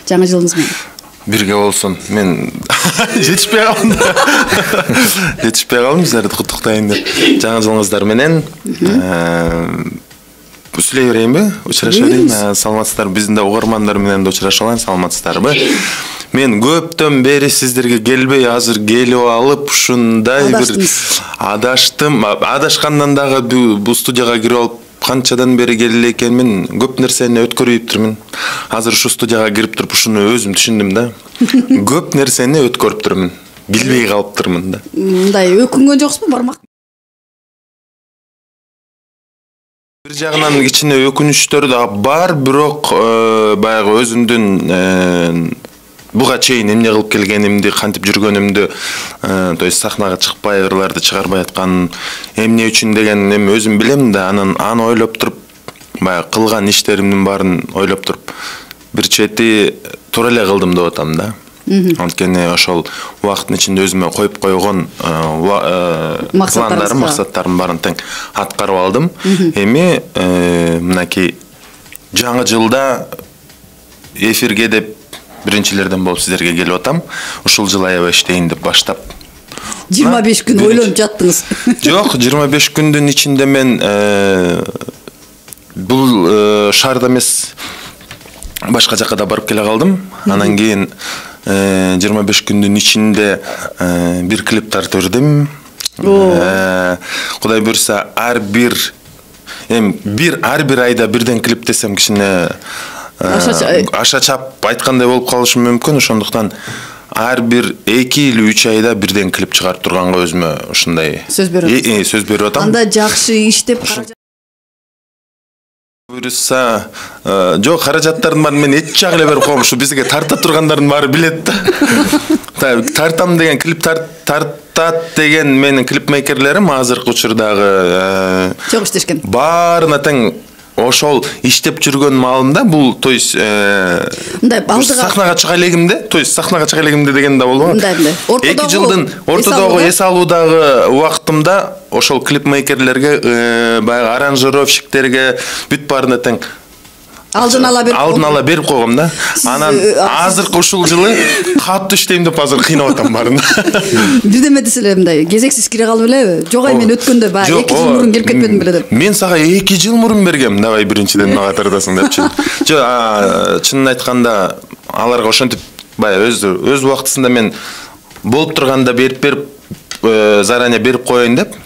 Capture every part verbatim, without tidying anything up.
Жаңы жылыңыз менен. Бирге болсун. Мен жетишпей калдым. Жетишпей калдым, силерди куттуктайын деп. Жаңы жылыңыздар менен сүйлөй берейинби? Учураша берейин. Саламатсыздар. Биздин да угармандар менен да учураша алайын. Саламатсыздарбы? Мен көптөн бери сиздерге келбей, азыр келип алып, ушундай бир адаштым. Адашкандан дагы бул студияга кирип алып канчадан бери келе экенмин, көп нерсени өткөрүптүрмүн. Азыр ушу студияга кирип туруп ушуну өзүм түшүндүм да. Көп нерсени өткөрүптүрмүн. Билбей калыптырмын да. Мындай өкүнгөн жоксузбу, бармак? Бир жагынан кичине өкүнүчтөр да бар, бирок баягы өзүмдүн буга чейин эмне кылып келгенимди, кантип жүргөнүмдү, то есть сахнага чыкпай, ырларды чыгарбай аткан эмне үчүн деген эми өзүм билем да, анан аны ойлоп туруп, баягы кылган иштеримдин баарын ойлоп туруп, бир чети туура эле кылдым деп атам да. Анткени ошол убакыттын ичинде өзүмө коюп койгон пландарым, максаттарым баарын тең аткарып алдым. Эми мынакей жаңы жылда эфирге деп биринчилерден болуп сиздерге келип атам. Ушул жыл аябай иштейин деп баштап. жыйырма беш күн ойлонуп жаттыңыз. Жок, жыйырма беш күндүн ичинде мен бул шаарда эмес, башка жакка да барып келе калдым. Анан кийин жыйырма беш күндүн ичинде бир клип тартып бердим. Кудай буйрса, ар бир эми бир ар бир айда бирден клип десем кичине аша чап айткандай болуп калышы мүмкүн. Ошондуктан ар бир эки или үч айда бирден клип чыгарып турганга өзүмө ушундай сөз берип сөз берип атам. Анда жакшы иштеп буйрса, жок, каражаттардын баарын мен эч жак эле берип коем. Ушу бизге тарта тургандардын баары билет да. Тартам деген, клип тартат деген менин клипмейкерлерим азыркы учурдагы чок иштешкен. Баарына тең ошол иштеп жүргөн маалымда бул, то есть мындай алдыга сахнага чыга элегимде, то есть сахнага чыга элегимде деген да болбойт. Мындай эки жылдын ортодогу эс алуудагы убактымда ошол клипмейкерлерге, баягы аранжировщиктерге бүт баарына тең алдын ала берип алдын ала берип койгом да. Анан азыркы ушул жылы катуу иштейм деп азыр кыйнап атам баарын. Бирдеме десе эле мындай кезексиз кире калып элеби? Жок, ай мен өткөндө баягы эки жыл мурун келип кетпедим беле деп. Мен сага эки жыл мурун бергем, давай биринчиден мага тартасың депчи. Жок, чынын айтканда аларга ошентип баягы өз өз убактысында мен болуп турганда берип берип заранее берип коеюн деп,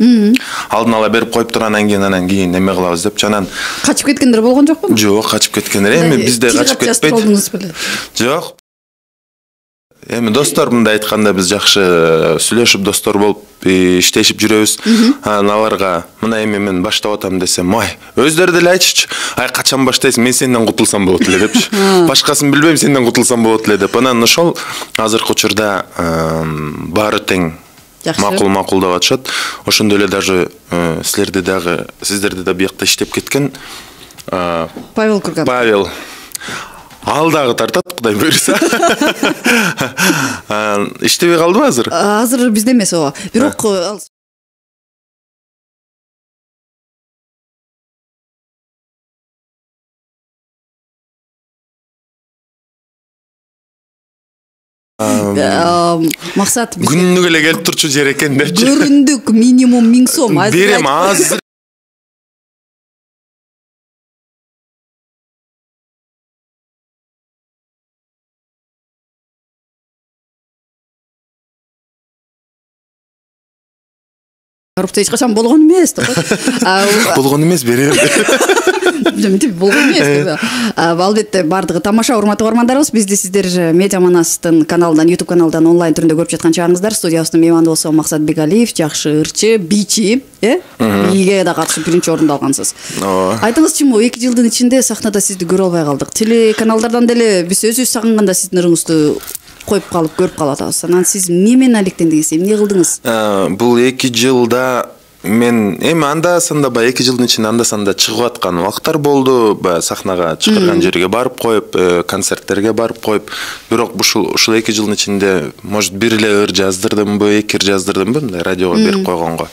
алдын ала берип коюп туруп анан кийин анан кийин эме кылабыз деп. Анан качып кеткендер болгон жокпу? Жок, качып кеткендер эми бизде качып кетпейт. Жок. Эми достор, мындай айтканда биз жакшы сүйлөшүп достор болуп иштешип жүрөбүз. Анан аларга мына эми мен баштап атам десем, ай, өздөрү деле айтышчу. Ай, качан баштайсың? Мен сенден кутулсам болот эле депчи. Башкасын билбейм, сенден кутулсам болот эле деп. Анан ошол азыркы учурда баары тең макул макул деп атышат. Ошондой эле даже силерди дагы, сиздерди да биякта иштеп кеткен Павел Курган. Павел. Ал дагы тартат, кудай буйрса. Иштебей калдыбы азыр? Азыр бизде эмес ооба. Бирок максат күнүгө эле келип турчу жер экен депчи. Көрүндүк минимум миң сом. Берем азыр. Барупта эч качан болгон эмес деп. Болгон эмес, берем. Мынтип болгон эмес деп. Албетте бардыгы тамаша, урматтуу угармандарыбыз, бизди сиздер Медиа Манастын каналынан, YouTube каналынан онлайн түрүндө көрүп жаткан чагыңыздар. Студиябыздын мейманы болсо Максат Бегалиев, жакшы ырчы, бийчи, э? Бийге да катышып биринчи орунду алгансыз. Айтыңызчы, мо эки жылдын ичинде сахнада сизди көрө албай калдык. Телеканалдардан деле биз өзүбүз сагынганда сиздин ырыңызды коюп калып, көрүп калып атабыз. Анан сиз эмне менен алектендиңиз, эмне кылдыңыз? Бул эки жылда мен эми анда санда баягы эки жылдын ичинде анда санда чыгып аткан убакыттар болду. Баягы сахнага чакырган жерге барып коюп, концерттерге барып коюп. Бирок ушул ушул эки жылдын ичинде может бир эле ыр жаздырдымбы, эки ыр жаздырдымбы, мындай радиого берип койгонго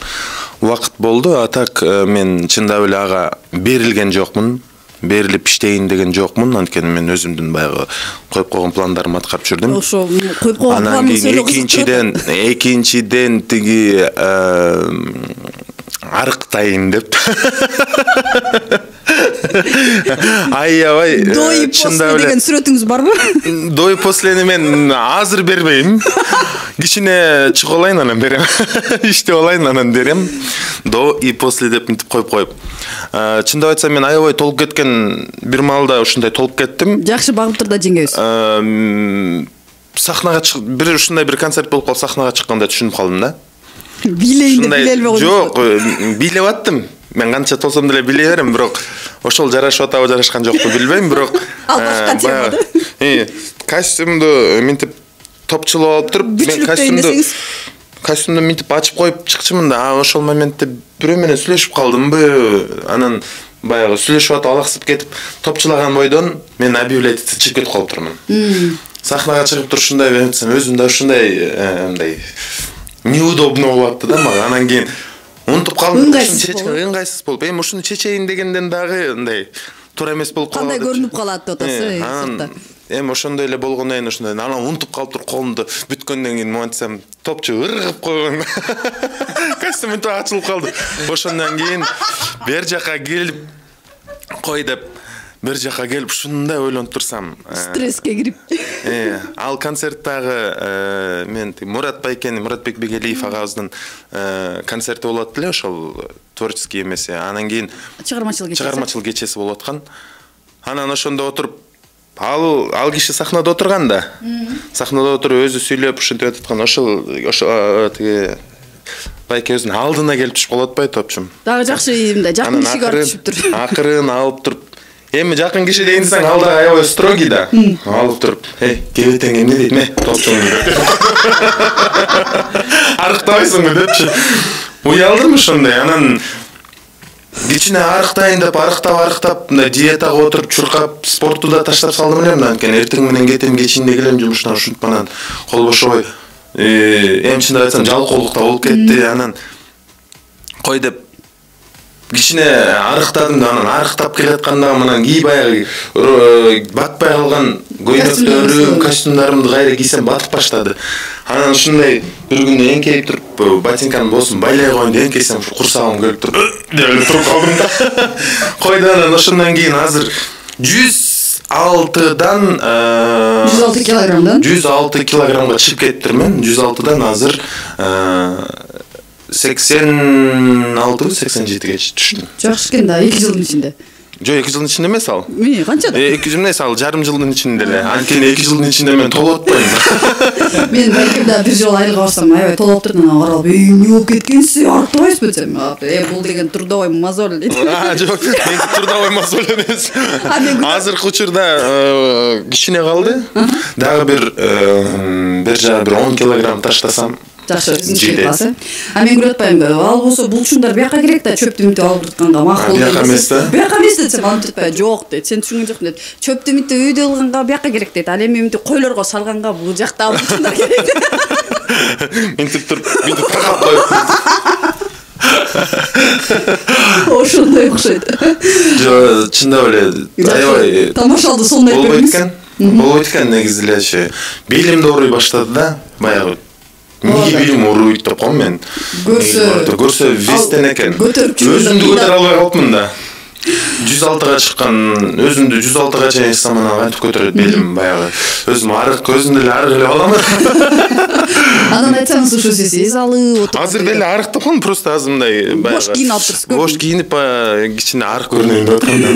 убакыт болду. А так мен чындап эле ага берилген жокмун. берилип иштейин деген жокмун. Анткени мен өзүмдүн баягы коюп койгон пландарымды аткарып жүрдүм. Ошо коюп койгон планды экинчиден экинчиден тиги арыктайын деп. Аябай до и после деген сүрөтүңүз барбы? До и послени мен азыр бербейм. Кичине чыгып алайын анан берем. Иштеп алайын анан берем. До и после деп мынтип коюп коюп. Чындап айтсам мен аябай толуп кеткен бир маалда ушундай толуп кеттим. Жакшы багып тур да жеңгебиз. Сахнага чыгып бир ушундай бир концерт болуп калып сахнага чыкканда түшүнүп калдым да. Билейин деп биле албай койдум. Жок, билеп аттым. Мен канча толсом деле биле берем, бирок ошол жарашып атабы, жарашкан жокпу билбейм, бирок албашка тема да. Э, костюмду мынтип топчулап алып туруп, мен костюмду костюмду мынтип ачып коюп чыкчымын да. Ошол моментте бирөө менен сүйлөшүп калдымбы? Анан баягы сүйлөшүп атып алаксып кетип, топчулаган бойдон мен объявлять этип чыгып кетип калып турмун. Сахнага чыгып туруп ушундай берсем, өзүм да ушундай мындай неудобно болуп атты да мага. Анан кийин унутуп калдым. Ыңгайсыз болуп, эми ушуну чечейин дегенден дагы мындай туура эмес болуп калды. Кандай көрүнүп калат деп атасыз? Анан эми ошондой эле болгондон кийин ушундай анан унутуп калып туруп колумду бүткөндөн кийин монтсам топчу ыргып койгон. Костюм мынтип ачылып калды. Ошондон кийин бер жака келип кой деп бир жака келип ушундай ойлонуп турсам, стресске кирип. Э, ал концерттагы мен Мурат Байкен, Муратбек Бегелиев агабыздын концерти болот эле, ошол творческий эмеси. Анан кийин чыгармачылык кечеси. Чыгармачылык кечеси болуп аткан. Анан ошондо отуруп ал ал киши сахнада отурган да. Сахнада отуруп өзү сүйлөп ушинтип аткан. Ошол ошо тиги Байке өзүнүн алдына келип түшүп калып атпайбы топчум. Дагы жакшы мындай жакын кишиге барып түшүп тур. Акырын алып туруп эми жакын киши дейин десең алда аябай строгий да. Алып туруп, "Эй, кебетең эмне дейт ме? Топчуң." Арыктабайсыңбы депчи. Уялдым ошондой. Анан кичине арыктайын деп арыктап арыктап мындай диетага отуруп чуркап спортту да таштап салдым эле. Анткени эртең менен кетем, кечинде келем жумуштан, ушинтип анан кол бошобой. Эми чындап айтсам жалкоолук да болуп кетти. Анан кой деп кичине арыктадым да, анан арыктап келатканда анан кий баягы батпай калган көйнөктөрүм, костюмдарымды кайра кийсем батып баштады. Анан ушундай бир күнү эңкейип туруп, ботинканын боосун байлай коеюн деп эңкейсем, ушу курсагым келип туруп, деп туруп калдым да. Койду анан ошондон кийин азыр жүз алтыдан жүз алты килограммдан жүз алты килограммга чыгып кетиптирмин. жүз алтыдан азыр сексен алты сексен жетиге түштүм. Жакшы экен да, эки жылдын ичинде. Жок, эки жылдын ичинде эмес ал. Эмне, канчада? эки жыл эмес, ал жарым жылдын ичинде эле. Анткени эки жылдын ичинде мен толуп атпайм. Мен балким бир жолу айылга барсам, аябай толуп турдум, анан каралып, "Эй, эмне болуп кеткенсиң? Арыктабайсызбы?" десем, "Э, бул деген трудовой мозоль" дейт. А, жок, мен трудовой мозоль эмес. Азыркы учурда кичине калды. Дагы бир бир жагы бир он килограмм таштасам жакшы өзүнчө классы. А мен көрүп атпаймынбы? Ал болсо булчуңдар бияка керек да, чөптү мынтип алып тутканга макул. Бияка эмес да. Бияка эмес десем, аны айтпай, "Жок" дейт. Сен түшүнгөн жоксуң дейт. Чөптү мынтип үйдө алганга бияка керек дейт. Ал эми мынтип койлорго салганга бул жакта булчуңдар керек. Мынтип туруп, мынтип тагап коюп. Ошондой окшойт. Жок, чындап эле аябай тамашалды сондай болбойт экен. Болбойт экен негизи элечи. Белим да ооруй баштады да, баягы. Эмне белим ооруйт деп коем мен. Көрсө, көрсө вестен экен. Өзүмдү көтөрө албай калыпмын да. жүз алтыга чыккан, өзүмдү жүз алтыга чейин самана кантип көтөрөт белим баягы. Өзүм арык, көзүмдү эле арык эле алам. Анан айтсаңыз ушу сиз алып отуруп. Азыр деле арыктап калдым, просто азыр мындай баягы. Бош кийинип алып турсуз. Бош кийинип кичине арык көрүнөйүн деп аткандан.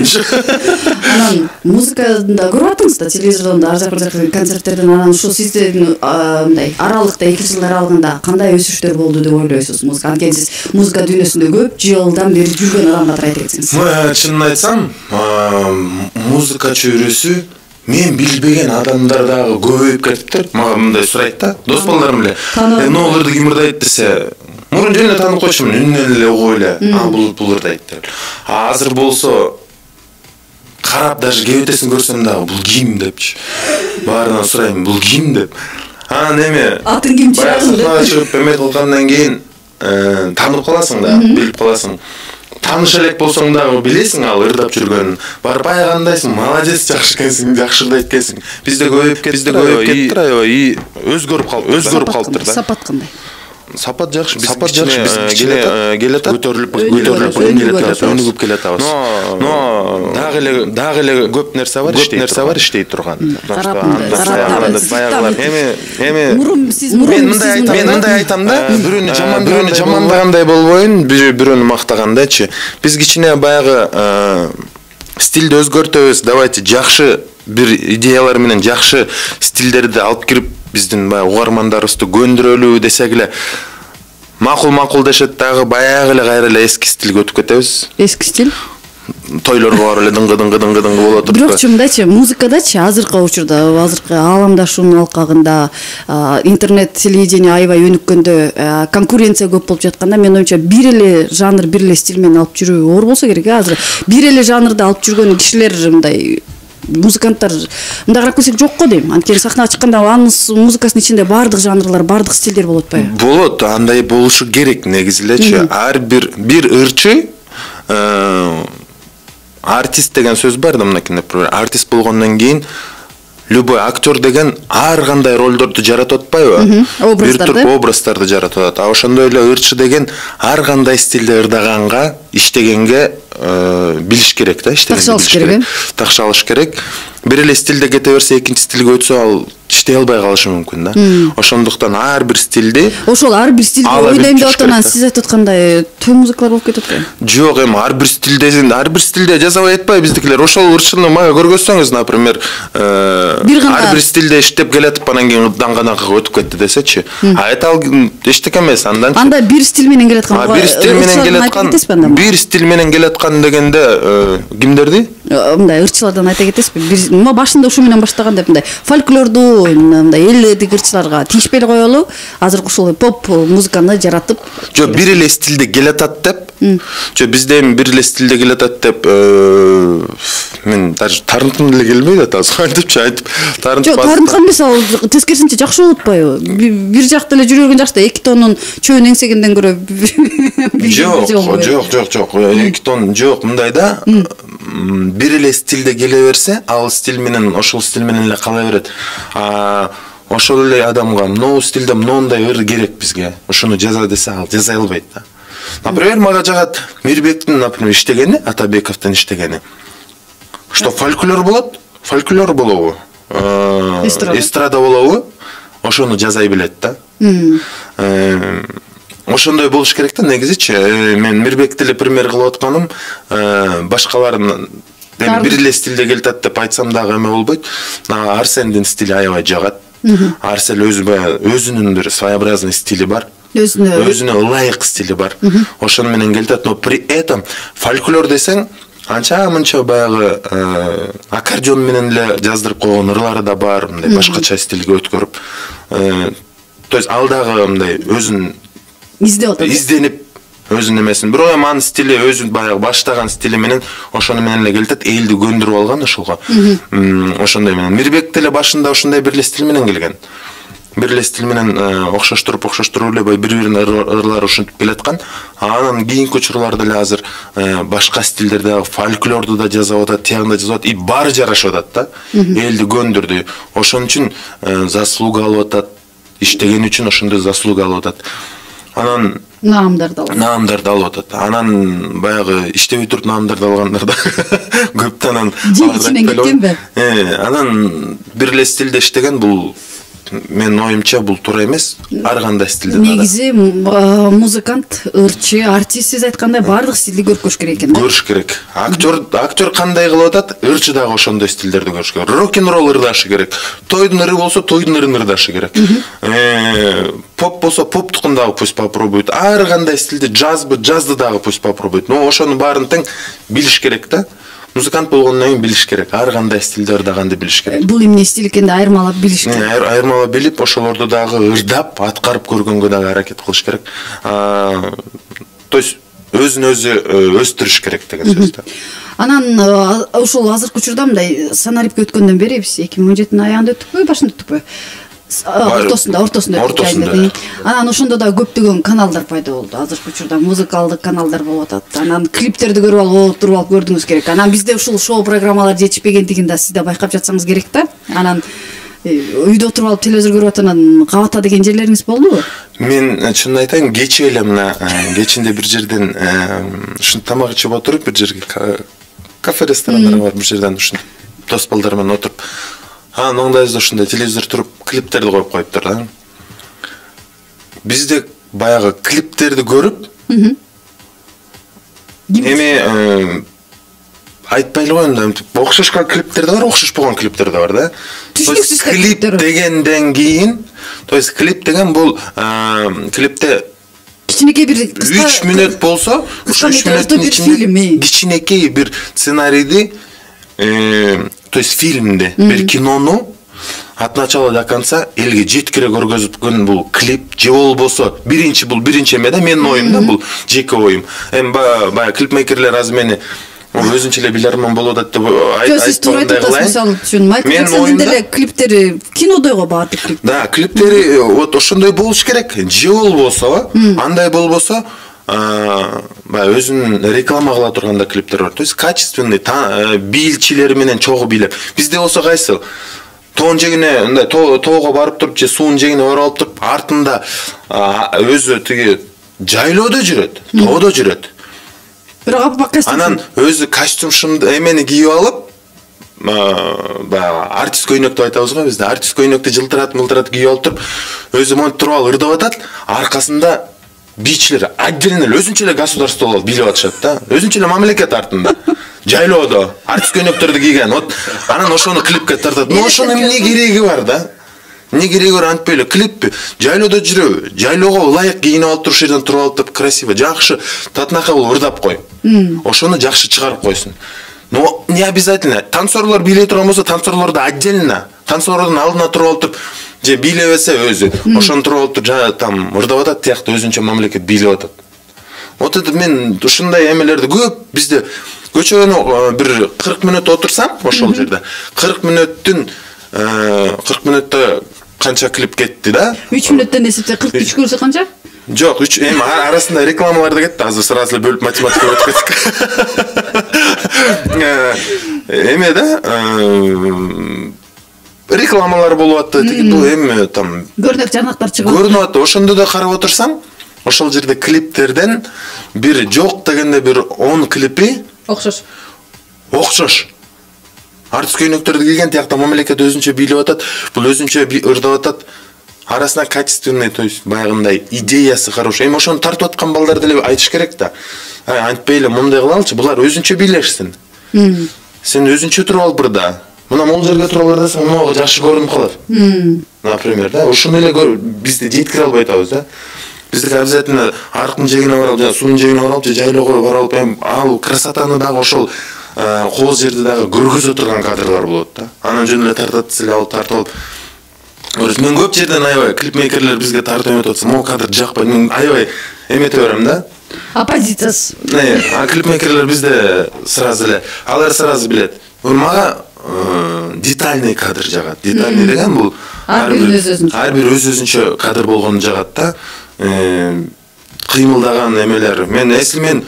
Анан музыкада көрүп аттыңыз да, телевизордон да, ар жак бир жак концерттерден. Анан ушул сиздин мындай аралыкта эки жылдар аралыгында кандай өсүштөр болду деп ойлойсуз? Музыка, анткени сиз музыка дүйнөсүндө көп жылдан бери жүргөн адам катары айта кетсеңиз. Чынын айтсам, музыка чөйрөсү мен билбеген адамдар дагы көбөйүп кетиптир. Мага мындай сурайт да, дос балдарым эле. Эмне олорду ким ырдайт десе, мурун жөн эле таанып койчумун, үнүнөн эле угуп эле, а бул бул ырдайт деп. А азыр болсо карап даже кебетесин көрсөм дагы бул ким депчи. Баарынан сурайм, бул ким деп. Анан эми атын ким чыгарды деп чыгып эме кылгандан кийин таанып каласың да, билип каласың. тааныш элек болсоң дагы билесиң ал ырдап жүргөнүн. Барып айгандайсың, молодец, жакшы экенсиң, жакшы ырдайт экенсиң. Бизде көбөйүп кетти, бизде көбөйүп кетти, аябай и өзгөрүп калды, өзгөрүп калыптыр да. Сапат кандай? Сапат жакшы, сапат жакшы, келе келатат, көтөрүлүп, көтөрүлүп келатат, өнүгүп келатабыз. Но дагы эле дагы эле көп нерсе бар, көп нерсе бар иштей турган. Баягылар эми эми мурун сиз мурун мен мындай айтам да, бирөөнү жаман бирөөнү жамандагандай болбойн, бирөөнү мактагандайчы. Биз кичине баягы стилди өзгөртөбүз, давайте жакшы бир идеялар менен жакшы стилдерди алып кирип биздин баягы угармандарыбызды көндүрөлү десек эле макул макул дешет, дагы баягы эле кайра эле эски стилге өтүп кетебиз. Эски стиль? Тойлорго барып эле дыңгы дыңгы дыңгы дыңгы боло туруп. Бирокчу мындайчы, музыкадачы азыркы учурда, азыркы ааламдашуунун алкагында, интернет телевидение аябай өнүккөндө, конкуренция көп болуп жатканда, менин оюмча бир эле жанр, бир эле стиль менен алып жүрүү оор болсо керек. Азыр бир эле жанрды алып жүргөн кишилер мындай музыканттар мындай карап келсек жок го дейм. Анткени сахнага чыкканда анын музыкасынын ичинде баардык жанрлар, баардык стилдер болот атпайбы? Болот, андай болушу керек негизи элечи. Ар бир бир ырчы артист деген сөз бар да, мынакей, например, артист болгондон кийин любой актер деген ар кандай ролдорду жаратып атпайбы? Бир тур образдарды жаратып атат. А ошондой эле ырчы деген ар кандай стилде ырдаганга, иштегенге билиш керек да, иштегенге билиш керек. Такшы алыш керек. Бир эле стилде кете берсе, экинчи стилге өтсө, ал иштей албай калышы мүмкүн да. Ошондуктан ар бир стилди, ошол ар бир стилди ойлойм деп аткандан сиз айтып аткандай төө музыкалар болуп кетип атпайбы? Жок, эми ар бир стилде, ар бир стилде жазабай атпайбы биздикилер. Ошол ырчыны мага көргөзсөңүз, например, ар бир стилде иштеп келатып, анан кийин даңганакка өтүп кетти десечи, айта ал эчтеке эмес. Андан анда бир стиль менен келаткан, бир стиль менен келаткан, бир стиль менен келаткан дегенде кимдерди? Мындай ырчылардан айта кетесизби? Башында ушу менен баштаган деп, мындай фольклорду, мындай элдик ырчыларга тийишпей эле коелу, азыр ушул поп музыканы жаратып. Жок, бир эле стилде келатат деп. Жок, бизде эми бир эле стилде келатат деп, мен даже тарынткым деле келбейт атабыз. Айтыпчы, айтып, тарынтып. Жок, тарынткан эмес, ал тескерисинче жакшы болуп атпайбы? Бир жакта эле жүрө берген жакта эки тоннун чөбүн эңсегенден көрө. Жок, жок, жок, жок, эки тонн жок, мындай да. Бир эле стилде келе берсе, ал стиль менен, ошол стиль менен эле кала берет. А ошол эле адамга мынау стилде мындай ыр керек бизге, ошону жаза десе, ал жаза албайт да. Например, мага жагат Мирбектин, например, иштегени, Атабековдун иштегени. Что фольклор болот? Фольклор болобу? Эстрада болобу? Ошону жазай билет да. Ошондой болуш керек да негизичи. Мен Мирбекти эле пример кылып атканым, башкалардын бир эле стилде келатат деп айтсам дагы эме болбойт. Арсендин стили аябай жагат. Арсен өзү өзүнүн бир своеобразный стили бар. Өзүнө өзүнө ылайык стили бар. Ошону менен келатат, но при этом фольклор десең, анча мынча баягы аккордеон менен эле жаздырып койгон ырлары да бар, мындай башкача стилге өткөрүп. То есть ал дагы мындай өзүн издеп атат. Изденип өзүнүн эмесин. Бирок эми анын стили өзү баягы баштаган стили менен ошону менен эле келатат, элди көндүрүп алган ошолго. Ошондой менен Мирбек деле башында ошондой бир эле стиль менен келген. Бир эле стиль менен окшоштуруп, окшоштуруп эле бири-бирине ырлары ушинтип келаткан. Анан кийинки учурларда эле азыр башка стилдерде фольклорду да жазып атат, тиягын да жазып атат, и баары жарашып атат да. Элди көндүрдү. Ошон үчүн заслуга алып атат, иштеген үчүн ошондой заслуга алып атат. Анан наамдарды алып. Наамдарды алып атат. Анан баягы иштебей туруп наамдарды алгандар да көп. Анан ичинен кеткенби? Э, анан бир эле стилде иштеген, бул менин оюмча бул туура эмес. Ар кандай стилде. Негизи музыкант, ырчы, артист сиз айткандай баардык стилди көрүш керек экен да. Көрүш керек. Актер, актер кандай кылып атат, ырчы дагы ошондой стилдерди көрүш керек. Рок-н-ролл ырдашы керек. Тойдун ыры болсо, тойдун ырын ырдашы керек. Э, поп болсо, поптукун дагы пусть попробуйт. Ар кандай стилде, джазбы, джазды дагы пусть попробуйт. Но ошонун баарын тең билиш керек да. Музыкант болгондон кийин билиш керек. Ар кандай стилде ырдаганды билиш керек. Бул эмне стиль экенди айырмалап билиш керек. Айырмалап билип, ошолорду дагы ырдап, аткарып көргөнгө дагы аракет кылыш керек. То есть өзүн өзү өстүрүш керек деген сөз да. Анан ошол азыркы учурда мындай санарипке өткөндөн бери биз эки миң он жетинин аягында өттүкпү, башында өттүкпү? ортосунда ортосунда ортосунда анан ошондо да көптөгөн каналдар пайда болду. Азыркы учурда музыкалдык каналдар болуп атат. Анан клиптерди көрүп алып туруп алып көрдүңүз керек. Анан бизде ушул шоу программалар жетишпегендигин да сиз да байкап жатсаңыз керек да. Анан үйдө отуруп алып телевизор көрүп атанан кабата деген жерлериңиз болдубу? Мен чынын айтайын, кечээ эле мына кечинде бир жерден ушинтип тамак ичип отуруп, бир жерге кафе ресторандар бар, бир жерден ушинтип дос балдар менен отуруп, анан оңдайбызда ушундай телевизор туруп клиптерди коюп коюптур да. Бизде баягы клиптерди көрүп, эми айтпайлы го эми окшошкан клиптер да бар, окшош болгон клиптер да бар да. Клип дегенден кийин, то есть клип деген бул клипте кичинекей бир үч мүнөт болсо, ошо үч мүнөттүн ичинде кичинекей бир сценарийди, то есть фильмди, бир кинону от начала до конца элге жеткире көргөзүпкөн бул клип же болбосо биринчи бул биринчи эме да, менин оюм да, бул жеке оюм. Эми баягы клипмейкерлер азыр мени өзүнчө эле биларман болуп атат деп айтпагандай кылайын. Мисалы үчүн Майкл Джексондун деле клиптери кинодой го баардык клип. Да, клиптери вот ошондой болуш керек. Же болбосо, андай болбосо, баягы өзүн реклама кыла турганда клиптер бар. То есть качественный, бийлчилери менен чогуу бийлеп. Бизде болсо кайсы? Тоон жегине, мындай тоого барып туруп, же суунун жегине оралып туруп, артында өзү тиги жайлоодо жүрөт, тоодо жүрөт. Бирок костюм. Анан өзү костюм шымды эмени кийип алып, баягы артист көйнөк деп айтабыз го бизде. Артист көйнөктү жылтырат, мылтырат кийип алып туруп, өзү монтип туруп алып ырдап атат, аркасында бийчилер отдельно эле өзүнчө эле государство болуп бийлеп атышат да. Өзүнчө эле мамлекет артында. Жайлоодо артист көйнөктөрдү кийген. Вот анан ошону клипке тартат. Но ошонун эмне кереги бар да? Не кереги бар, антпай эле клиппи. Жайлоодо жүрөбү. Жайлоого ылайык кийинип алып туруп, жерден туруп алып туруп красиво, жакшы татынака болуп ырдап кой. Ошону жакшы чыгарып койсун. Но не обязательно. Танцорлор бийлей турган болсо, танцорлорду отдельно, танцорлордун алдына туруп алып туруп, же бийлебесе өзү, ошону туруп алып туруп жана там ырдап атат, тияктуу өзүнчө мамлекет бийлеп атат. Вот это мен ушундай эмелерди көп бизде көчөнү бир кырк мүнөт отурсам, ошол жерде кырк мүнөттүн кырк мүнөттө канча клип кетти да? үч мүнөттөн эсептеп кырк үч көрсө канча? Жок, үч эми арасында рекламалар да кетти. Азыр сразу бөлүп математика өтүп кеттик. Эме да, рекламалар болуп атты, тиги бул эми там көрнөк жарнактар чыгып атты. Көрүнүп атты. Ошондо да карап отурсаң, ошол жерде клиптерден бир жок дегенде бир он клипи окшош. Окшош. Артист көйнөктөрдү кийген, тиякта мамлекет өзүнчө бийлеп атат, бул өзүнчө ырдап атат. Арасында качественный, то есть баягындай идеясы хороший. Эми ошону тартып аткан балдар деле айтыш керек да. Антпай эле мындай кылалычы, булар өзүнчө бийлешсин. Сен өзүнчө туруп алып ырда. Мына могул жерге туруп алып ырдасаң, могу жакшы көрүнүп калат. Например, да, ошону эле бизде жеткире албай атабыз да. Биздики обязательно арыктын жегине барып, же суунун жегине барып, же жайлоого барып, эми ал красотаны дагы ошол кооз жерди дагы көргөзө турган кадрлар болот да. Анан жөн эле тартат, силе алып тартып алып. Мен көп жерден аябай клипмейкерлер бизге тартып эметип атса, могу кадр жакпайт. Мен аябай эмете берем да. Оппозициясы. Не, а клипмейкерлер бизде сразу эле, алар сразу билет. Мага детальный кадр жагат. Детальный деген бул ар бир өз-өзүнчө кадр болгону жагат да. Кыймылдаган эмелер. Мен если мен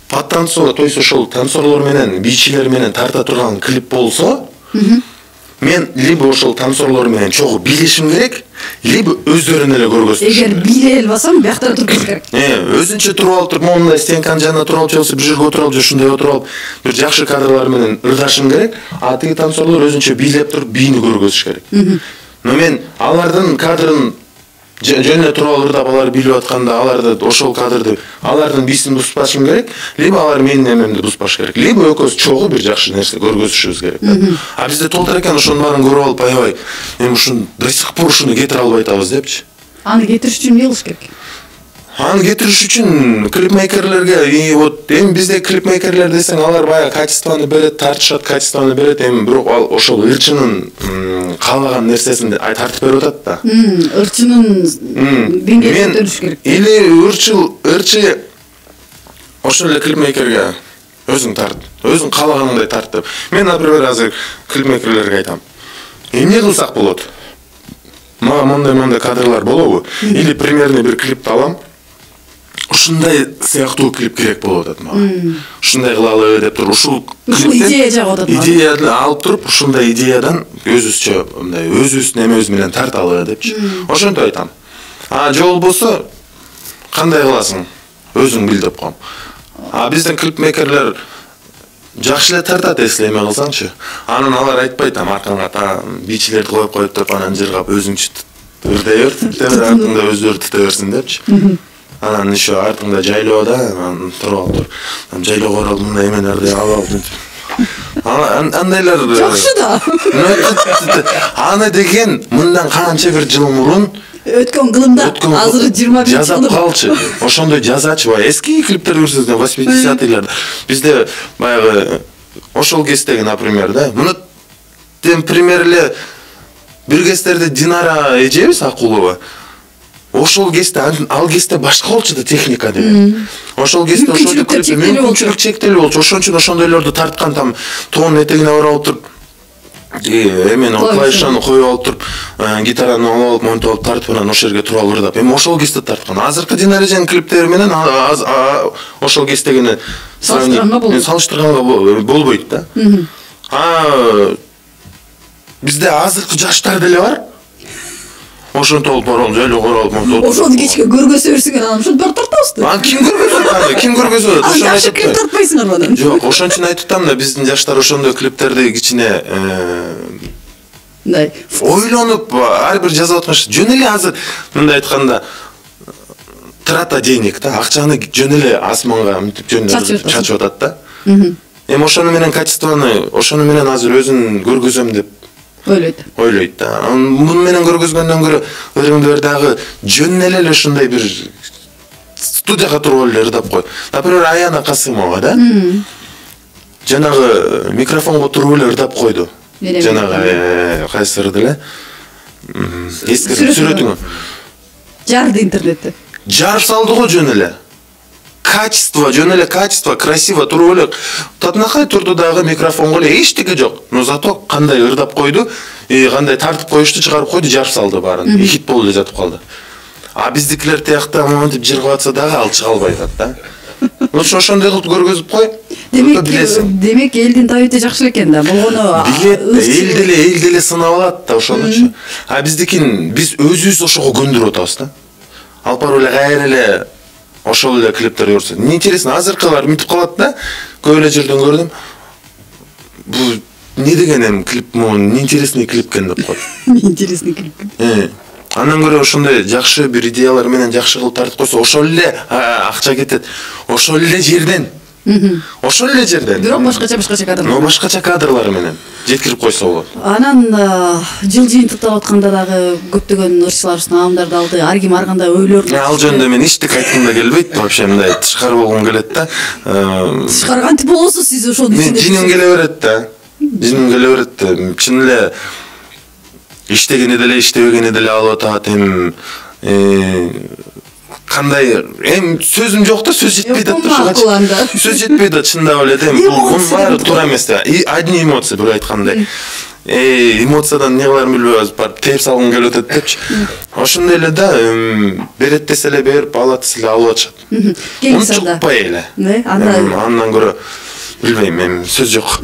под танцор, то есть ошол танцорлор менен, бийчилер менен тарта турган клип болсо, мен либо ошол танцорлор менен чогуу бийлешим керек, либо өздөрүн эле көргөзүш. Эгер бийлей албасам, биякта туруп керек. Э, өзүнчө туруп алып туруп, мондай стенканын жанына туруп алып, же бир жерге отуруп алып, же ушундай отуруп алып, бир жакшы кадрлар менен ырдашым керек, а тиги танцорлор өзүнчө бийлеп туруп, бийини көргөзүш керек. Но мен алардын кадрын жөн эле туруп алып ырдап, алар бийлеп атканда, аларды ошол кадрды, алардын бийсин буспашым керек, либо алар менин эмемди буспаш керек, либо экөөбүз чогуу бир жакшы нерсе көргөзүшүбүз керек. А бизде толтур экен, ошонун баарын көрүп алып, аябай, эми ушун до сих пор ушуну кетире албай атабыз депчи. Аны кетириш үчүн эмне кылыш керек? Аны кетириш үчүн клипмейкерлерге, и вот эми бизде клипмейкерлер десең, алар баягы качествону берет, тартышат, качествону берет, эми бирок ал ошол ырчынын каалаган нерсесин тартып берип атат да. Ырчынын деңгээлин көтөрүш керек. Или ырчыл, ырчы ошол эле клипмейкерге өзүң тарт, өзүң каалаганыңдай тарт деп. Мен, например, азыр клипмейкерлерге айтам. Эмне кылсак болот? мага мондай мондай кадрлар болобу, или примерно бир клипти алам, ушундай сыяктуу клип керек болуп атат мага. Ушундай кылалы деп туруп, ушул идея жагып атат. Идеяны алып туруп, ушундай идеядан өзүбүзчө мындай өзүбүздүн эмебиз менен тарталы депчи. Ошентип айтам. А же болбосо кандай кыласың? Өзүң бил деп коем. А биздин клипмейкерлер жакшы эле тартат, эслей эме кылсаңчы. Анан алар айтпайт, аркаңа та бичилерди коюп коюп туруп анан жыргап өзүңчү ырдай бер, темир артыңда өздөрү тыта берсин депчи. Анан еще артыңда жайлоо да, анан туруп алып туруп, жайлоого барып мындай эмелерди алып алып. Андайлар жакшы да. Аны деген мындан канча бир жыл мурун өткөн кылымда, азыр жыйырма беш жыл жазап калчы. Ошондой жазачы, баягы эски клиптер көрсөтсөң восьмидесятыйларда. Бизде баягы ошол кездеги, например, да, муну тем пример эле бир кездерде Динара эжебиз Акулова. Ошол кезде, ал кезде башка болчу да техника деген. Ошол кезде ошол клипти мүмкүнчүлүк чектелүү болчу. Ошон үчүн ошондойлорду тарткан, там тоонун этегине барып алып туруп, эмени клавишаны коюп алып туруп, гитараны алып алып, монтип алып тартып, анан ошол жерге туруп алып ырдап. Эми ошол кезде тарткан. Азыркы Динара эженин клиптери менен ошол кездегини салыштырганга болбойт да. А бизде азыркы жаштар деле бар. Ошентип алып барып, жайлоого барып, монтип. Ошону кечке көргөзө берсең, анан ошентип барып тартабыз да. Ан ким көргөзөт анда? Ким көргөзөт? Ошону айтып ким тартпайсыңар анан? Жок, ошон үчүн айтып атам да, биздин жаштар ошондой клиптерди кичине мындай ойлонуп ар бир жазып аткан. Жөн эле азыр мындай айтканда трата денег да, акчаны жөн эле асманга мынтип жөн чачып атат да. Эми ошону менен качествону, ошону менен азыр өзүн көргөзөм деп ойлойт. Ойлойт да. Муну менен көргөзгөндөн көрө ырыңды бер дагы жөн эле ушундай бир студияга туруп эле ырдап кой. Например, Аяна Касымова да. Жанагы микрофонго туруп эле ырдап койду. Жанагы кайсы ырды эле? Эски сүрөтүңө. Жарды интернетте. Жарып салды го жөн эле. Качество, жөн эле качество, красиво туруп эле татынакай турду дагы микрофонго эле эчтеке жок. Но зато кандай ырдап койду, кандай тартып коюшту, чыгарып койду, жарып салды баарын. Хит болуп эле жатып калды. А биздикилер тиякта монтип жыргап атса дагы ал чыга албай атат да. Лучше ошондой кылып көргөзүп кой. Демек, демек элдин табиити жакшы экен да. Болгону билет, эл деле, эл деле сынап алат да ошонучу. А биздикин биз өзүбүз ошого көндүрүп атабыз да. Алып барып эле кайра эле ошол эле клиптер көрсөт. Интересно, азыркылар мынтип калат да. Көп эле жерден көрдүм. Бул не деген эми клип, мон интересный клип экен деп коет. Интересный клип. Э. Андан көрө ошондой жакшы бир идеялар менен жакшы кылып тартып койсо, ошол эле акча кетет. Ошол эле жерден. Ошол эле жерден. Бирок башкача башкача кадрлар. Но башкача кадрлар менен жеткирип койсо болот. Анан жыл жыйынтыктап атканда дагы көптөгөн ырчылар наамдарды алды. Ар ким ар кандай ойлорун. Ал жөнүндө мен эчтеке айткым да келбейт. Вообще мындай тышкары болгум келет да. Тышкары кантип болосуз сиз ошону түшүнөсүз? Мен жиним келе берет да. Жиним келе берет да. Чын эле иштегени деле иштебегени деле алып атат. Эми кандай эми сөзүм жок да, сөз жетпейт да. Сөз жетпейт да, чындап эле да. Бул баары туура эмес да. Одни эмоции бир айткандай. Э, эмоциядан не кыларын билбей барып тээп салгым келип атат депчи. Ошондой эле да, берет десе эле берип, алат десе эле алып атышат. Унчукпай эле. Андан көрө билбейм, эми сөз жок.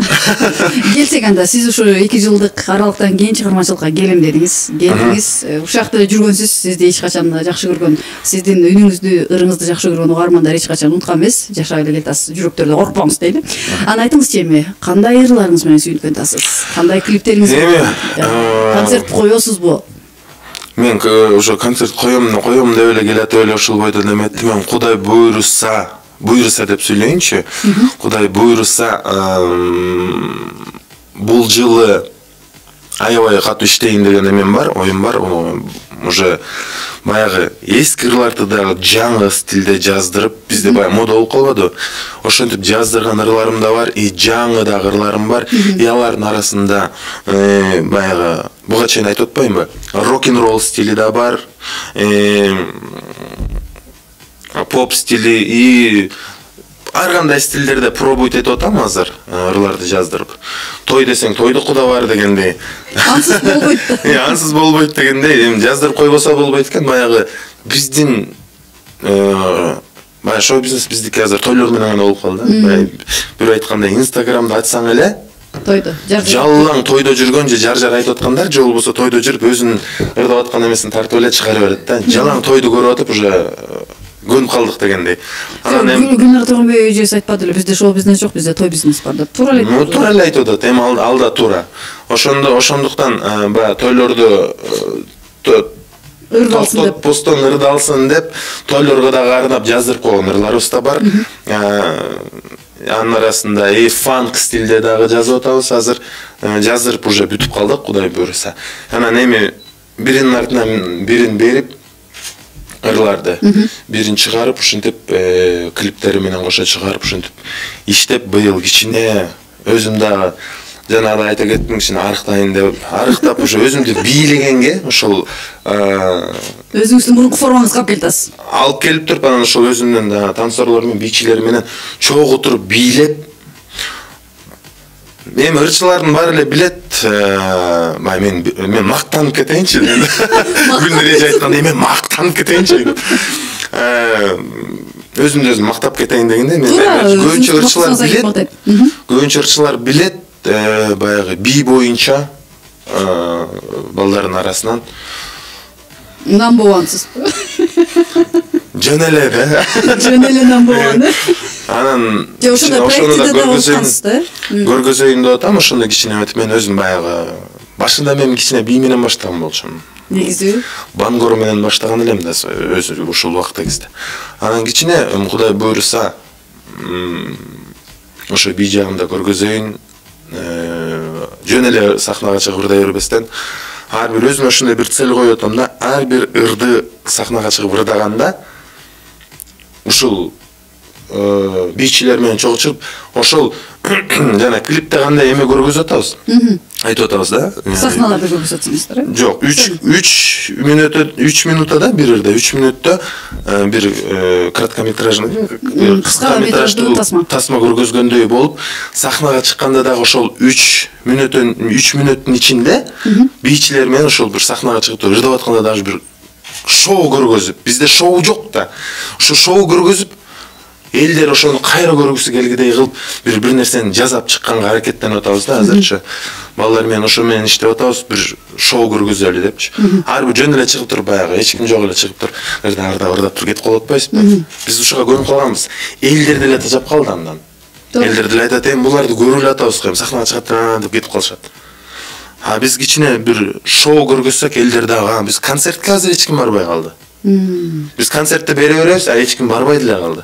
Келсек анда, сиз ушу эки жылдык аралыктан кийин чыгармачылыкка келем дедиңиз. Келдиңиз, ушакта эле жүргөнсүз, сизди эч качан жакшы көргөн, сиздин үнүңүздү, ырыңызды жакшы көргөн угармандар эч качан унуткан эмес. Жашап эле кетасыз, жүрөктөрдө коркпоңуз дейли. Анан айтыңызчы эми, кандай ырларыңыз менен сүйүнүп атасыз? Кандай клиптериңиз бар? Концерт коесузбу? Мен ошо концерт коем, коем деп эле келатып эле ушул бойдо деметтим. Кудай буйруса, буйруса деп сүйлөйүнчү. Кудай буйруса, бул жылы аябай катуу иштейин деген эмем бар, оюм бар. Уже баягы эски ырларды дагы жаңы стилде жаздырып, бизде баягы мода болуп калбады. Ошентип жаздырган ырларым да бар, и жаңы дагы ырларым бар. И алардын арасында баягы буга чейин айтып атпаймынбы? Рок-н-ролл стили да бар. Поп стили и ар кандай стилдерде пробовать этип атам азыр, ырларды жаздырып. Той десең тойдуку да бар дегендей. Ансыз болбойт. Э, ансыз болбойт дегендей, эми жаздырып койбосо болбойт экен. Баягы биздин баягы шоу бизнес биздики азыр тойлор менен гана болуп калды. Баягы бир айткандай Инстаграмда ачсаң эле тойдо жаллаң тойдо жүргөн же жар жар айтып аткандар же болбосо тойдо жүрүп өзүнүн ырдап аткан эмесин тартып эле чыгарып берет да. Жалаң тойду көрүп атып уже көнүп калдык дегендей. Анан эми Гүлнар Тургунбай эжеси айтпады эле, бизде шоу бизнес жок, бизде той бизнес бар деп. Туура эле. Ну, туура эле айтып атат. Эми алда туура. Ошондо ошондуктан баягы тойлорду ырдалсын деп, постон ырдалсын деп, тойлорго дагы арнап жаздырып койгон ырларыбыз да бар. Анын арасында и фанк стилде дагы жазып атабыз азыр. Жаздырып уже бүтүп калдык, Кудай буйруса. Анан эми биринин артынан бирин берип ырларды, бирин чыгарып, ушинтип клиптери менен кошо чыгарып, ушинтип иштеп быйыл кичине өзүм дагы жанагы айта кеттим, кичине арыктайын деп, арыктап уже өзүмдү бийлегенге, ошол өзүңүздүн мурунку формаңызга алып келатсыз. Алып келип туруп, анан ошол өзүмдүн танцорлор менен, бийчилер менен чогуу туруп бийлеп, эми ырчылардын баары эле билет, мен мен мактанып кетейинчи деп. Гүлнар эже айткандай, мен мактанып кетейинчи деп. Өзүмдү өзүм мактап кетейин дегенде, мен көбүнчө ырчылар билет. Көбүнчө ырчылар билет, баягы бий боюнча балдардын арасынан number one'сыз. Жөн эле да. Жөн эле number one. Анан ошондо да көргөзөйүн, көргөзөйүн деп атам, ошондо кичине өтүп мен өзүм баягы башында мен кичине бий менен баштаган болчумун. Негизи бангор менен баштаган элем да өзү ушул убакта кезде. Анан кичине Кудай буйруса ошо бий жагында көргөзөйүн, жөн эле сахнага чыгып ырдай бербестен, ар бир өзүмө ошондой бир цель коюп атам да, ар бир ырды сахнага чыгып ырдаганда ушул бийчилер менен чогуу чыгып, ошол жана клипте кандай эме көргөзүп атабыз. Айтып атабыз да. Сахналарда көргөзүп атасыңыздар, э? Жок, үч мүнөттө, үч минутта бир ырда, үч мүнөттө бир короткометражный, кыска метраждуу тасма көргөзгөндөй болуп, сахнага чыкканда дагы ошол үч мүнөттөн үч мүнөттүн ичинде бийчилер менен ошол бир сахнага чыгып ырдап атканда дагы бир шоу көргөзүп, бизде шоу жок да. Ошо шоу көргөзүп, элдер ошону кайра көргүсү келгидей кылып, бир бир нерсени жасап чыкканга аракеттенип атабыз да азырчы. Балдар менен ошо менен иштеп атабыз, бир шоу көргөзөлү депчи. Ар бир жөн эле чыгып туруп баягы, эч ким жок эле чыгып туруп, ырда ырда ырдап туруп кетип калып атпайсызбы? Биз ушуга көнүп калганбыз. Элдер деле тажап калды андан. Элдер деле айтат, эми буларды көрүп эле атабыз, эми сахнага чыгат деп кетип калышат. А биз кичине бир шоу көргөзсөк, элдер дагы, биз концертке азыр эч ким барбай калды. Биз концертте бере беребиз, а эч ким барбай деле калды.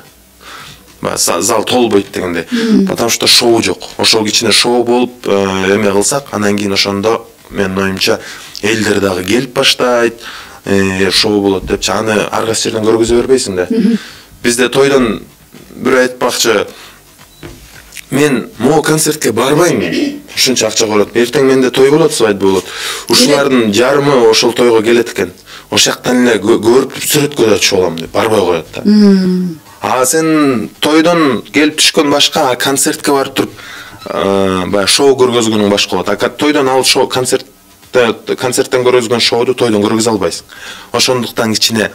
Зал толбойт дегенде, потому что шоу жок. Ошол кичине шоу болуп эме кылсак, анан кийин ошондо менин оюмча элдер дагы келип баштайт, шоу болот депчи. Аны ар кайсы жерден көргөзө бербейсиң да. Бизде тойдон бир айтпакчы, мен могу концертке барбайм, ушунча акча болот. Эртең менде той болот, свадьба болот. Ушулардын жарымы ошол тойго келет экен. Ошол жактан эле көрүп сүрөткө да түшүп алам деп барбай коет да. А сен тойдон келип түшкөн башка, а концертке барып туруп, баягы шоу көргөзгөнүң башка болот. А тойдон ал шоу концертте концерттен көргөзгөн шоуду тойдон көргөзө албайсың. Ошондуктан кичине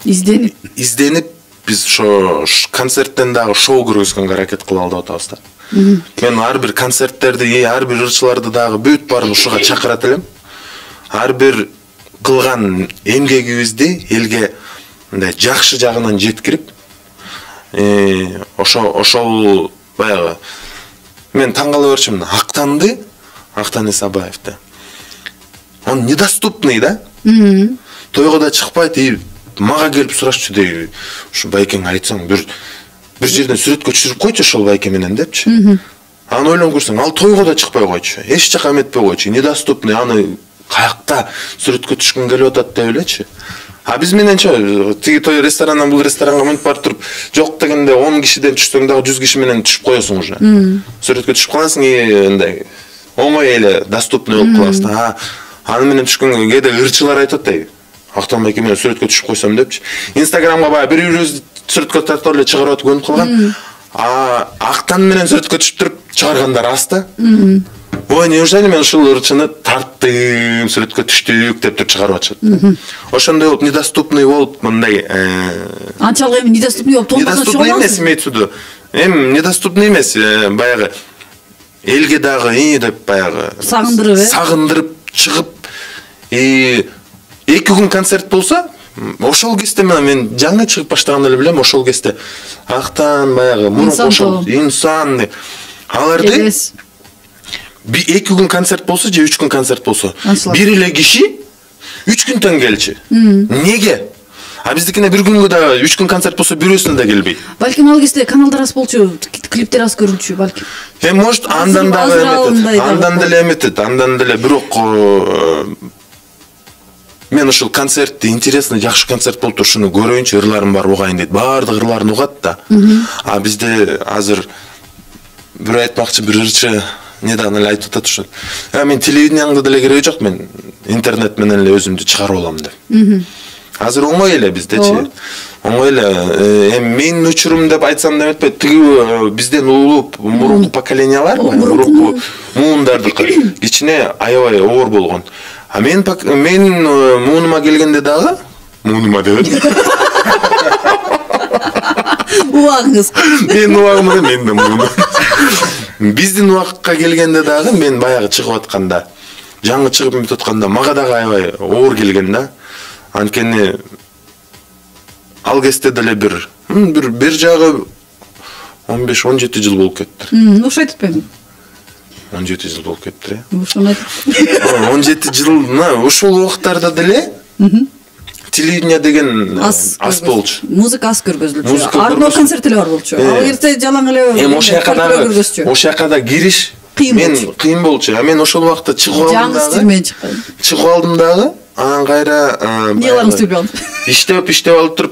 изденип, изденип биз ошо концерттен дагы шоу көргөзгөнгө аракет кылалы деп атабыз да. Мен ар бир концерттерди, ар бир ырчыларды дагы бүт баарын ушуга чакырат элем. Ар бир кылган эмгегибизди элге мындай жакшы жагынан жеткирип, ошо ошол баягы мен таң кала берчүмүн. Актанды, Актан Исабаевди. Он недоступный да? Тойго да чыкпайт, и мага келип сурашчу дейби. Ушу байкеңе айтсаң, бир бир жерден сүрөткө түшүрүп койчу ошол байке менен депчи. Аны ойлонуп көрсөң, ал тойго да чыкпай койчу. Эч жака эметпей койчу. Недоступный, аны каякта сүрөткө түшкүн келип атат деп элечи. А биз мененчи тиги той ресторандан бул ресторанга мынтип барып туруп, жок дегенде он кишиден түшсөң дагы жүз киши менен түшүп коесуң уже. Сүрөткө түшүп каласың, мындай оңой эле доступный болуп каласың. А аны менен түшкөнгө кээде ырчылар айтат дейби. Актан байке менен сүрөткө түшүп койсом депчи. Инстаграмга баягы бир-бирибизди сүрөткө тартып эле чыгарып атып көнүп калган. а актан менен сүрөткө түшүп туруп чыгаргандар аз да. Ой, неужели мен ушул ырчыны тарттым, сүрөткө түштүк деп туруп чыгарып атышат. Ошондой болуп недоступный болуп мындай анчалык эми недоступный болуп толмосун недоступный эмес имеется. Эми недоступный эмес, баягы элге дагы и деп баягы сагындырып, э? Сагындырып чыгып, и эки күн концерт болсо, ошол кезде мен жаңы чыгып баштаганда эле билем, ошол кезде актан баягы мурун ошол инсан аларды эки күн концерт болсо же үч күн концерт болсо, бир эле киши үч күндөн келчү. Неге? А биздикине бир күнгө дагы үч күн концерт болсо бирөөсүнө да келбейт. Балким ал кезде каналдар аз болчу, клиптер аз көрүнчү балким. Э, может, андан дагы эметет, андан деле эметет, андан деле бирок мен ушул концертти интересный, жакшы концерт болуп турушуну көрөйүнчү, ырларым бар угайын дейт. Баардык ырларын угат да. А бизде азыр бир айтмакчы бир ырчы недавно эле айтып атат ушул. Э, мен телевидениеңде деле кереги жок, мен интернет менен эле өзүмдү чыгарып алам деп. Азыр оңой эле биздечи. Оңой эле. Эми менин учурум деп айтсам да эметпейт. Тиги бизден улуу мурунку поколениялар, мурунку муундардыкы кичине аябай оор болгон. А мен мен муунума келгенде дагы муунума деп. Убагыңыз. Мен убагым, мен да муунум. Биздин убакка келгенде дагы мен баягы чыгып атканда, жаңы чыгып бүтүп атканда мага дагы аябай оор келген да. Анткени ал кезде деле бир бир бир жагы он беш он жети жыл болуп кетти. Ошо айтпаймын. он жети жыл болуп кетти. Ошону айтып. он жети жылна ушул убактарда деле телевидение деген аз болчу. Музыка аз көргөзүлчү. Арноо концерт эле бар болчу. Ал эрте жалаң эле. Эми ошол жака дагы ошол жака да кириш мен кыйын болчу. А мен ошол убакта чыгып алдым дагы. Жаңы стилмен чыккан. Чыгып алдым дагы. Анан кайра эмнелерин сүйлөп алдым. Иштеп иштеп алып туруп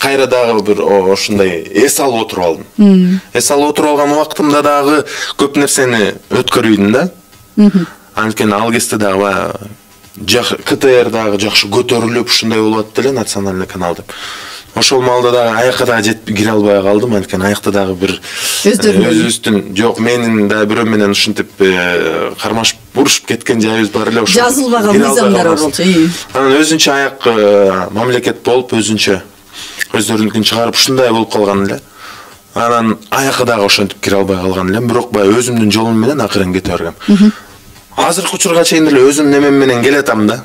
кайра дагы бир ошондой эс алып отуруп алдым. Эс алып отуруп алган убактымда дагы көп нерсени өткөрбөйдүм да. Анткени ал кезде дагы КТР дагы жакшы көтөрүлүп ушундай болуп атты эле национальный канал деп. Ошол маалда дагы аякка дагы жетип кире албай калдым, анткени аякта дагы бир өзүбүздүн жок менин да бирөө менен ушинтип кармашып урушуп кеткен жайыбыз бар эле, ошо жазылбаган мыйзамдар бар болчу. Анан өзүнчө аяк мамлекет болуп, өзүнчө өздөрүнүкүн чыгарып ушундай болуп калган эле. Анан аякка дагы ошентип кире албай калган элем, бирок баягы өзүмдүн жолум менен акырын кете бергем. Азыркы учурга чейин деле өзүм немем менен келатам да.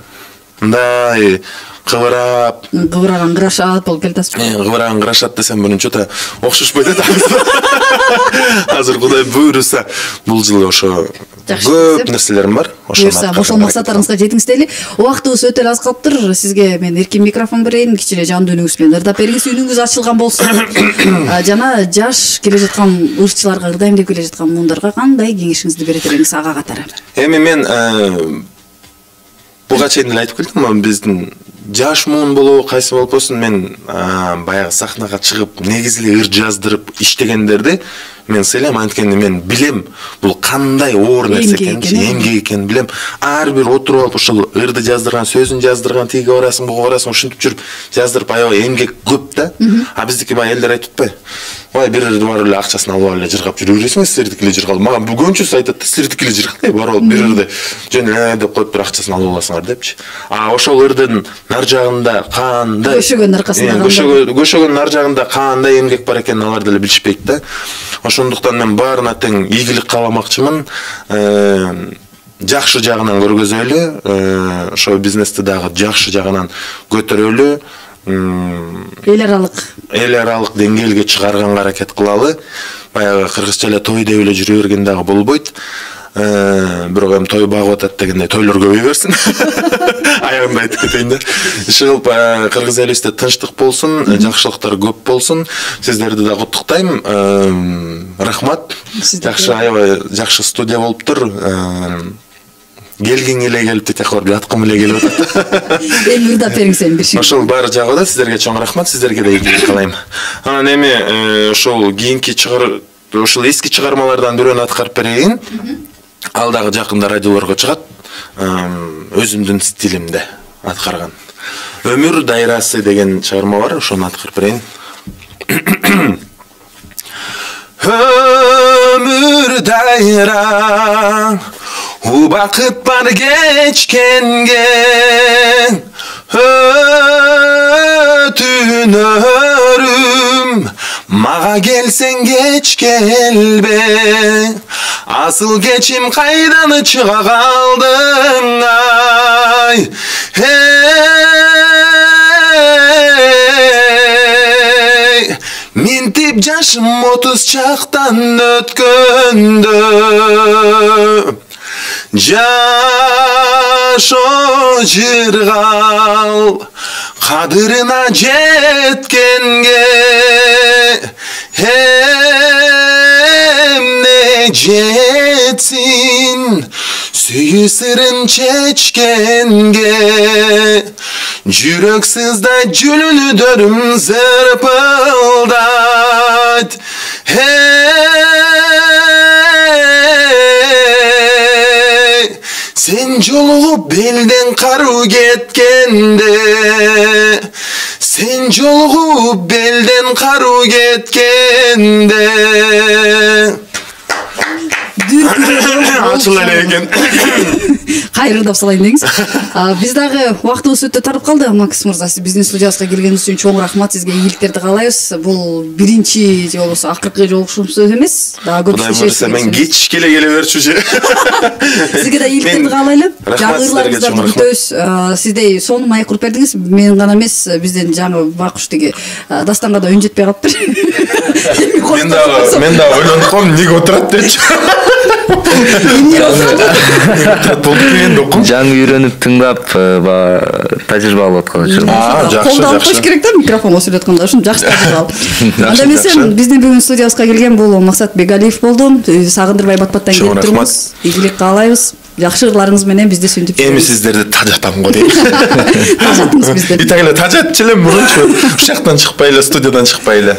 Мындай кыбырап, кыбыраган кырашат болуп келатасыз. Кыбыраган кырашат десем мурунча да окшошпойт эт. Азыр Кудай буйруса, бул жылы ошо көп нерселерим бар. Буйруса, ошол максаттарыңызга жетиңиз дейли. Убактыбыз өтө аз калыптыр. Сизге мен эркин микрофон берейин, кичине жандуу үнүңүз менен ырдап бериңиз, үнүңүз ачылган болсун. Жана жаш келе жаткан ырчыларга, ырдайм деп келе жаткан муундарга кандай кеңешиңизди бере бериңиз ага катары? Эми мен буга чейин эле айтып келдим, биздин жаш муун болобу, кайсы болуп болсун, мен баягы сахнага чыгып, негизи эле ыр жаздырып иштегендерди мен сыйлайм, анткени мен билем бул кандай оор нерсе экенин, эмгек экенин билем. Ар бир отуруп алып ушул ырды жаздырган, сөзүн жаздырган, тиги барасың, буга барасың, ушинтип жүрүп жаздырып аябай эмгек көп да. А биздики баягы элдер айтып атпайбы? Ой, бир ырды барып эле акчасын алып эле жыргап жүрө бересиңер, силердики эле жыргал. Мага бүгүнчүсү айтат, силердики эле жыргалай, барып алып бир ырды жөн эле деп коюп бир акчасын алып аласыңар депчи. А ошол ырдын нар жагында кандай көшөгөн аркасында кандай көшөгөн нар жагында кандай эмгек бар экенин алар деле билишпейт да. Ошондуктан мен баарына тең ийгилик кааламакчымын. Жакшы жагынан көргөзөлү, ошо бизнести дагы жакшы жагынан көтөрөлү. Эл аралык эл аралык деңгээлге чыгарганга аракет кылалы. Баягы кыргызча эле той деп эле жүрө берген дагы болбойт. Бирок эми той багып атат дегенде тойлор көбөйө берсин. Аягында айтып кетейин да. Иши кылып кыргыз элибизде тынчтык болсун, жакшылыктар көп болсун. Сиздерди да куттуктайм. Рахмат. Жакшы, аябай жакшы студия болуптур. Келгиң эле келип тетекор жаткым эле келип атат. Эми ырдап бериңиз эми бир ши. Ошол баары жагып атат. Сиздерге чоң рахмат. Сиздерге да ийгилик каалайм. Анан эми ошол кийинки чыгар ошол эски чыгармалардан бирөөнү аткарып берейин. Ал дагы жакында радиолорго чыгат. Өзүмдүн стилимде аткарган. Өмүр дайрасы деген чыгарма бар, ошону аткарып берейин. Ömür dayra ubakıt var geçkenge ötünörüm maga gelsen geç gelbe asıl geçim kaydanı çığa kaldın ay hey mintip yaşım otuz çaktan ötköndü Jaş o jırgal kadırına jetkenge hem ne jetsin süyü sırın çeçkenge Jüröksüzde cülünü dörüm zırpıldat hey sen jolğup belden karu ketkende sen jolğup belden karu ketkende Açыл эле экен. Кайрылдап салайын деңиз. Биз дагы убактыбыз өтө тарып калды. Макс мырза, сиз биздин студиябызга келгениңиз үчүн чоң рахмат, сизге ийгиликтерди каалайбыз. Бул биринчи же болбосо акыркы жолугушуубуз эмес. Дагы көп иштешибиз. Мен кеч келе келе берчүчү. Сизге да ийгиликтерди каалайлы. Жагырларыңыздарды күтөбүз. Сиздей сонун маек куруп бердиңиз. Мен гана эмес, биздин жаңы Бакуш тиги Дастанга да үн жетпей калыптыр. Мен дагы мен дагы ойлонуп калдым, эмнеге отурат депчи. Жаңы үйрөнүп тыңдап тажрыйба алып аткан үчүн. Колдо алып коюш керек да, микрофонго сүйлөп атканда ушун жакшы тажрыйба алып. Анда эмесе биздин бүгүн студиябызга келген бул Максат Бегалиев болду. Сагындырбай Батбаттан келип турбуз. Ийгилик каалайбыз. Жакшы ырларыңыз менен бизди сүнтүп жүрүңүз. Эми сиздерди тажатам го дейм. Тажаттыңыз бизди. Итагыла тажатчы элем мурунчу. Ушул жактан чыкпай эле, студиядан чыкпай эле.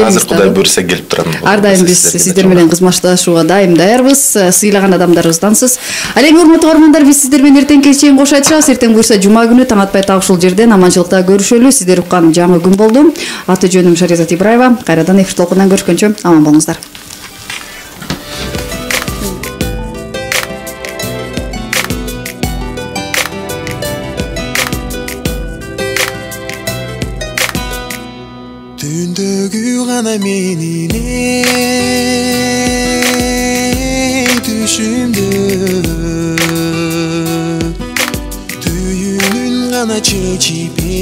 Азыр Кудай буйрса келип турам. Ар дайым биз сиздер менен кызмашташууга дайым даярбыз. Сыйлаган адамдарыбыздансыз. Ал эми урматтуу көрөрмандар, биз сиздер менен эртеңки чейин кош айтышабыз. Эртең буйрса жума күнү таң атпай так ушул жерден аманчылыкта көрүшөлү. Сиздер уккан жаңы күн болду. Аты жөнүм Шаризат Ибраева. Кайрадан эфир толкундан көрүшкөнчө аман болуңуздар. Түндөгү гана менин түшүмдө түйүнүн гана чечип